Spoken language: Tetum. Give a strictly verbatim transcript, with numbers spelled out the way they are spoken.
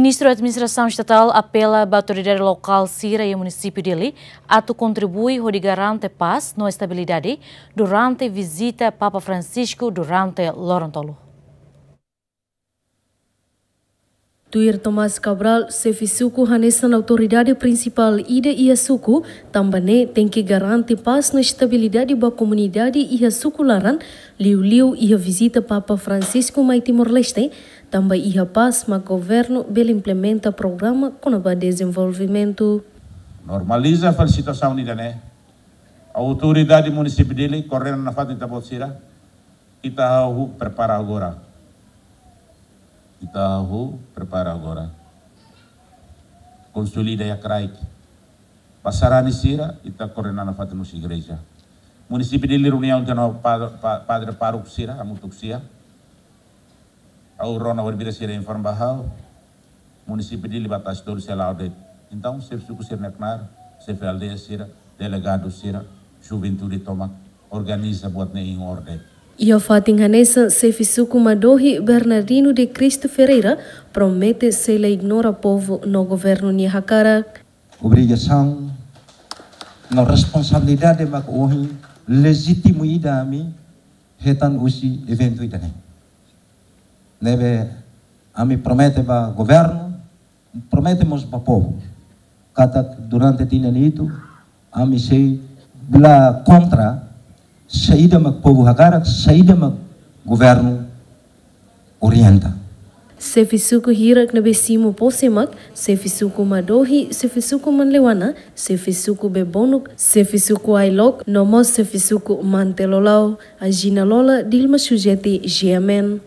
Ministru Administrasaun Estatál apela ba autoridade lokál sira iha munisípiu Dili atu kontribui hodi garante pás no estabilidade durante vizita Papa Francisco durante loron tolu. Tuir Tomás Cabral, xefe suku hanesan autoridade prinsipál ida iha suku, tanba ne'e tenke garante pás no estabilidade ba komunidade iha suku laran, liuliu iha vizita Papa Francisco mai Timor-Leste, tanba iha pás mak governu bele implementa programa kona-ba dezenvolvimentu. Normaliza fali situasaun ida-ne'e. Autoridade munisípiu Dili, koordena nafatin ita-boot sira, ita hahú prepara agora. Ita hahú prepara agora. Konsolida iha kraik. Ba sarani sira, ita koordena nafatin husi igreja. Munisípiu Dili reuniaun tiha ona pa-, pa-, padre pároku sira, hamutuk sira. Ha'u rona hodi bira sira informa ba ha'u. Munisípiu Dili ba tasi tolu sei la'o de'it. Entaun, xefe suku sira-nia knaar, xefe aldeia sira, delegadu sira, juventude tomak, organiza buat ne'e em ordem. Iha fatin hanesan, xefe suku Madohi, Bernardino de Cristo Ferreira, promete sei la ignora povu no governu nia hakarak. Obrigasaun no responsabilidade mak ohin lejítimu ida ami hetan husi eventu ida-ne'e. Ne'ebé ami promete ba governu, promete mós ba povu. Katak durante tinan ida, ami sei la kontra saida mak povu hakarak, saida mak governu orienta. Xefe suku hirak ne'ebé simu pose mak, xefe suku Madohi, xefe suku Manleuana, xefe suku Bebonuk, xefe suku Ailok, no mós xefe suku Mantelolau. Agina Lola, Dilma Sujeti, G M N.